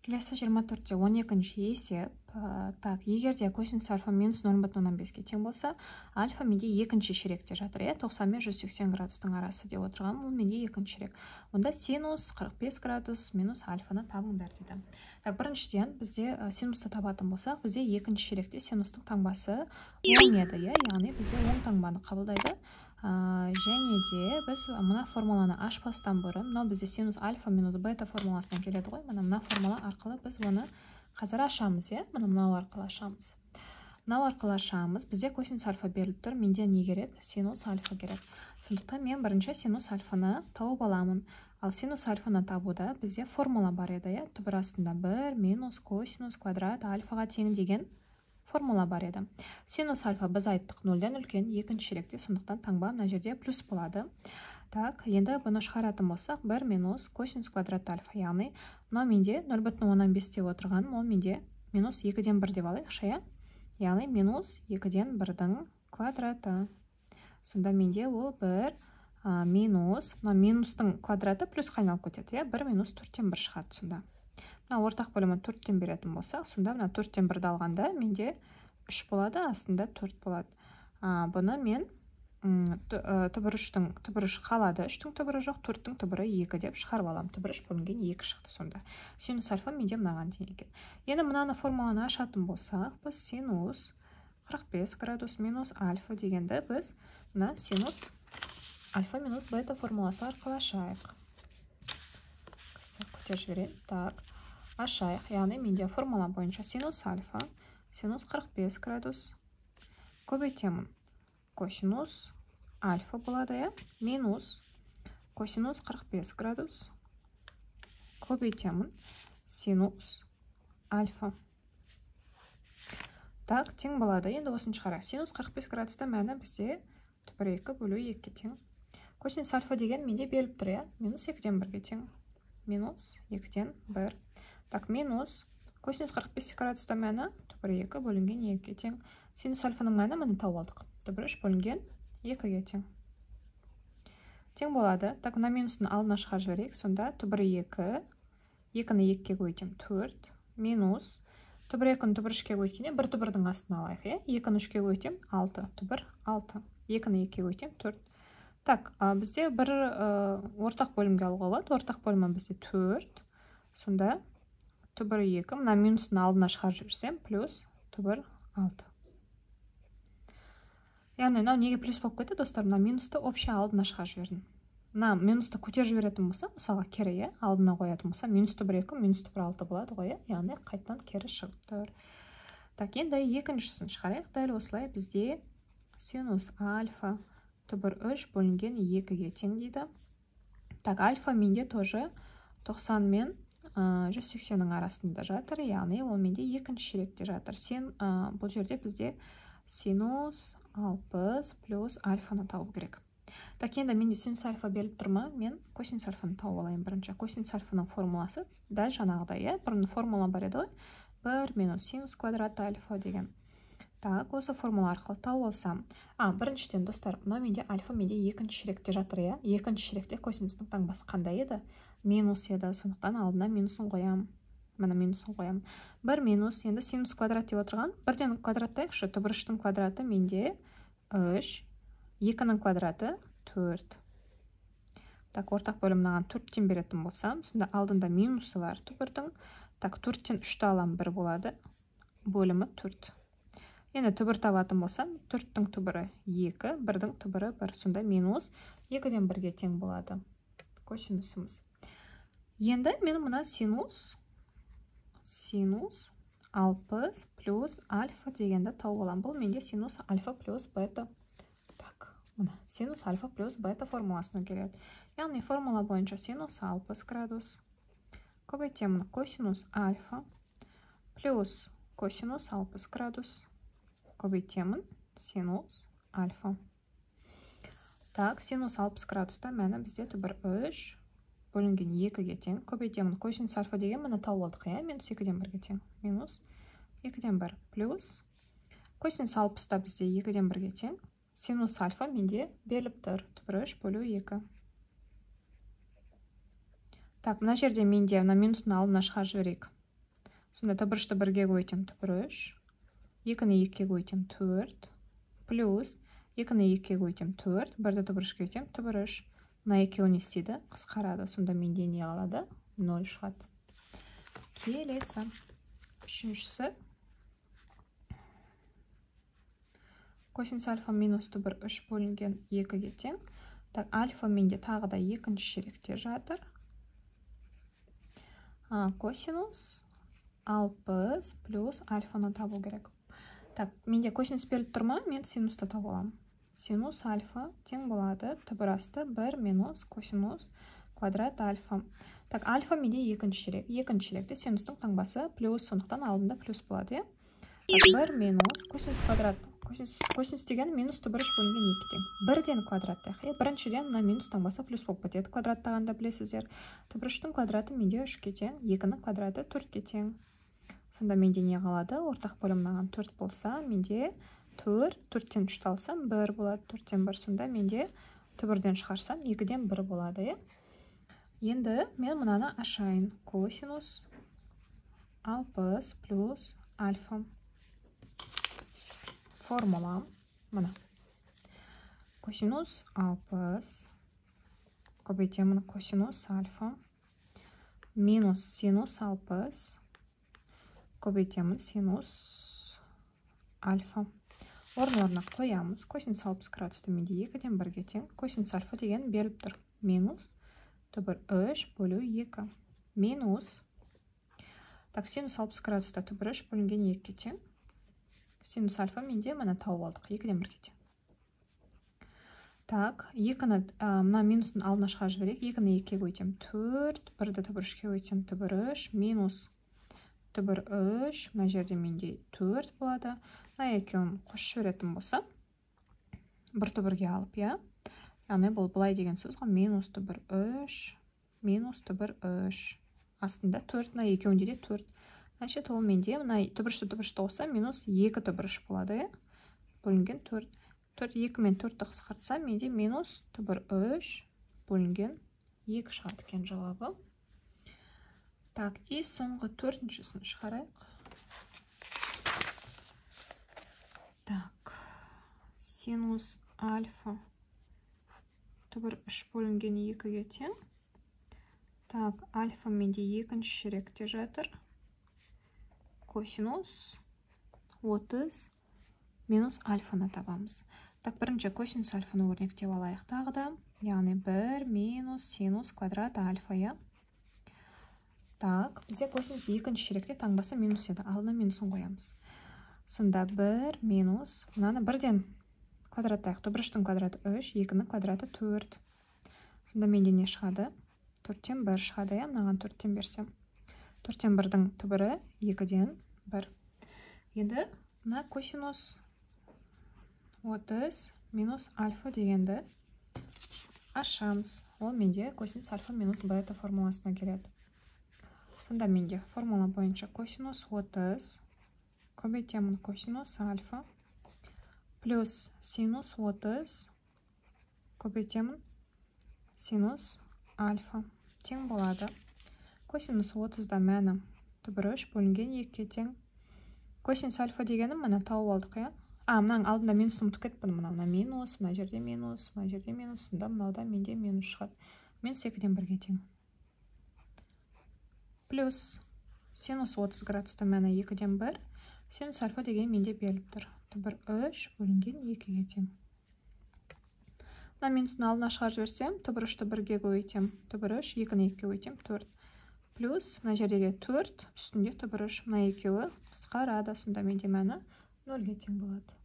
Келесі 24-те 12-ші есеп. Так, егер де косинус альфа минус 0,5-ге тең болса, альфа менде екінші ширекте жатыр, 90 мен 180 градустың арасы деп отырған, ол менде екінші ширек. Онда синус 45 градус минус альфаны табыңдар дейді. Біріншіден бізде синусты табатын болсақ, бізде екінші ширекте синустың таңбасы оң еді, яғни бізде оң таңбаны қабылдайды. Және де біз мына формуланы ашпастан бұрын, мынау бізде синус альфа минус бета формуласынан келеді ғой. Мына формула арқылы біз оны қазір ашамыз, мынау арқылы ашамыз. Мынау арқылы ашамыз. Бізде косинус альфа беріліп тұр. Менде не керек? Синус альфа керек. Сондықтан мен бірінші синус альфаны тауып аламын. Ал синус альфаны табуда бізде формула бар еді, түбір астында 1 минус косинус квадрат альфаға тең деген формула бар еді. Синус альфа біз айттық 0-ден үлкен, екінші ширекте, сондықтан таңба мына жерде плюс болады. Так, енді бұны шығаратын болсақ, 1 минус косинус квадрат альфа, яғни мынау менде 0,15 деп отырған, ол менде минус 2-ден 1 деп алайықшы, яғни минус 2-ден 1-дің квадраты. Сонда менде ол 1 минус, мына минустың квадраты плюсқа айналып кетеді, 1 минус 4-тен 1 шығады сонда. Мына ортақ бөлімі 4-тен беретін болсақ, сонда мына 4-тен 1-ді алғанда менде 3 болады, астында 4 болады. Бұны мен түбір 3 қалады, 3-тің түбірі жоқ, 4-тің түбірі 2 деп шығарып алам. Түбір 3 бөлінген 2 шықты сонда. Синус альфа менде мынаған тең екен. Енді мынаны формуланы ашатын болсақ, біз синус 45 градус минус альфа дегенді біз мына синус альфа минус бета формуласы арқылы ашайық. Көтер жіберейін. Так, ашайық. Яғни менде формула бойынша синус альфа, синус 45 градус көбейтемін. Косинус альфа болады, минус косинус 45 градус көбейтемін синус альфа. Так, тең болады. Енді осыны шығарайық. Синус 45 градуста мәні бізде түбір 2 бөлу 2-ге тең. Косинус альфа деген менде беріліп тұр, минус 2-ден 1-ге тең. Минус 2-ден 1. Так, минус косинус 45 градуста мәні түбір 2 бөлінген 2-ге тең. Синус альфаның мәні мені тауып алдық. Түбір 3 бөлінген 2-ге тең. Тең болады. Так, мына минустың алдына шығарып жіберейік. Сонда түбір 2, 2-ні 2-ге көйтем 4, минус түбір 2-ні түбір 3-ге көйткенде бір түбірдің астына алайық, 2-ні 3-ге көйтем 6, түбір 6, 2-ні 2-ге көйтем 4. Так, бізде бір ортақ бөлімге алуға болады. Ортақ бөлімі бізде 4. Сонда түбір 2, мына минустың алдына шығарып жіберсем, плюс түбір 6. Яғни, мынау неге плюс болып кетті, достар? Мына минусты общий алдына шығарып жібердім. Мына минусты көтер жіберетін болса, мысалға кері, алдына қоятын болса, минус түбір 2, минус түбір 6 болады ғой, яғни қайтадан кері шығып тұр. Так, енді екіншісін шығарайық. Дәл осылай бізде синус альфа түбір 3 бөлінген 2-ге тең дейді. Так, альфа менде тоже 90 мен 180-ның арасында жатыр, яғни ол менде екінші ширекте жатыр. Бұл жерде бізде синус 60 плюс альфаны тауып керек. Так, енді менде синус альфа беріліп тұрма, мен косинус альфаны тауып алайын бірінші. Косинус альфаның формуласы дәл жаңағыдай, бұрын формула бар еді ғой, 1 минус синус квадрат альфа деген. Так, осы формула арқылы тауып алсам. Біріншіден, достар, мынау менде альфа менде екінші ширекте жатыр, екінші ширекте косинустың таңбасы қандай еді? Минус еді, сондықтан алдына минусын қоям. Мына минусын қоям. 1 минус, енді синус квадрат деп отырған. 1-ден квадраттайықшы, түбір 3-тің квадраты менде 3, 2-ның квадраты 4. Так, ортақ бөлім мынаған 4-тен беретін болсам, сонда алдында минусы бар түбірдің. Так, 4-тен 3-ті алам 1 болады. Бөлімі 4. Енді түбір табатын болсам, 4-тің түбірі 2, 1-дің түбірі 1. Сонда минус 2-ден 1-ге тең болады косинусымыз. Енді мен мына синус 60 плюс альфа дегенді тауып алам. Бұл менде синус альфа плюс бета. Так, мына синус альфа плюс бета формуласына келеді. Яғни формула бойынша синус 60 градус көбейтемін косинус альфа плюс косинус 60 градус көбейтемін синус альфа. Так, синус 60 градуста мәні бізде түбір 3 бөлінген 2-ге тең. Көбейтемін косинус альфа деген мені тауып алдық, минус 2-ден 1-ге тең. Минус 2-ден 1 плюс косинус 60-та бізде 2-ден 1-ге тең. Синус альфа менде беріліп тұр, түбір 3 бөлу 2. Так, мына жерде менде мына минустың алдына шығарып жіберейік. Сонда түбірішті 1-ге көйтем түбіріш. 2-ні 2-ге көйтем 4. Плюс 2-ні 2-ге көйтем 4. 1-ді түбірішке көйтем түбіріш. Мына екеуі не істейді? Қысқарады. Сонда менде не қалады? 0 шығады. Келесі. Үшіншісі. Косинус альфа минус түбір 3 бөлінген 2-ге тең. Так, альфа менде тағы да екінші шеректе жатыр. Косинус 60 плюс альфаны табу керек. Так, менде косинус беріліп тұрма, мен синусты табу аламын. Синус альфа тең болады. Түбір асты 1 минус косинус квадрат альфа. Так, альфа менде екінші шерек. Екінші шеректе синустың таңбасы плюс, сондықтан алдында плюс болады. 1 минус косинус квадрат. Косинус деген минус түбір 3 бөлінген 2 тең. 1-ден квадраттайық. Біріншіден мына минус таңбасы плюс болып кетеді. Квадраттағанда білесіздер. Түбір 3-тің квадраты менде 3-ке тең, 2-нің квадраты 4-ке тең. Сонда менде не қалады? Ортақ бөлім мынаған 4 болса, менде 4-тен 3 алсам 1 болады. 4-тен 1, сонда менде түбірден шығарсам 2-ден 1 болады. Енді мен мынаны ашайын. Косинус 60 плюс альфа. Формула мына. Косинус 60 көбейтемін косинус альфа минус синус 60 көбейтемін синус альфа. Орын-орнына қоямыз. Косинус 60 градусты менде 2-ден 1-ге тең. Косинус альфа деген беріліп тұр. Минус түбір 3 бөлу 2. Минус. Так, синус 60 градуста түбір 3 бөлінген 2-ге тең. Синус альфа менде мына тауып алдық. 2-ден 1-ге тең. Так, 2-ні мына минустың алдына шығарып жіберейік. 2-ні 2-ге көйтем 4, 1-ді түбір 3-ге көйтем түбір 3, минус түбір 3, мына жерде менде 4 болады. Мына екеуін қосып жіберетін болса, бір түбірге алып, яғни бұл былай деген сөз ғой, минус түбір 3, минус түбір 3. Астында 4, мына екеуінде де 4. Значит, ол менде мына түбіршті болса, минус 2 түбіріш болады, бөлінген 4. 2 мен 4-ті қысқартса, менде минус түбір 3 бөлінген 2 шығады екен жауабы. Так, и соңғы 4-шісін шығарайық. Так, синус альфа түбір 3 бөлінген 2-ге тең. Так, альфа менде екінші шеректе жатыр. Косинус 30 минус альфаны табамыз. Так, бірінші косинус альфаны өрнектеп алайық тағы да. Яғни 1 минус синус квадрат альфа. Так, бізде косинус екінші шеректе таңбасы минус еді. Алдына минусын қоямыз. Сонда 1 минус, мынаны 1-ден квадраттайық. Түбір 3-тің квадраты 3, 2-нің квадраты 4. Сонда менде не шығады? 4-тен 1 шығады, мынаған 4-тен берсем. 4-тен 1-дің түбірі 2-ден 1. Енді мына косинус 30 минус альфа дегенді ашамыз. Ол менде косинус альфа минус бета формуласына келеді. Сонда менде формула бойынша косинус 30 көбейтемін косинус альфа плюс синус 30 көбейтемін синус альфа тең болады. Косинус 30-да мәні түбір 3 бөлінген 2-ге тең. Косинус альфа дегенім мына тауып алдық, мынаның алдында минусын ұмытып кетпін. Мына минус, мына жерде минус, мына жерде минус, сонда мынауда менде минус шығады. Минус 2-ден 1-ге тең. Плюс синус 30 градуста мәні 2-ден 1. Синус альфа деген менде беріліп тұр. Түбір 3 бөлінген 2-ге тең. Мына минустың алдына шығарып жіберсем, түбір 3-ті 1-ге көйтем, түбір 3, 2-ні 2-ге көйтем 4. Плюс мына жерде 4, үстінде түбір 3, мына екеуі қысқарады, сонда менде мәні 0-ге тең болады.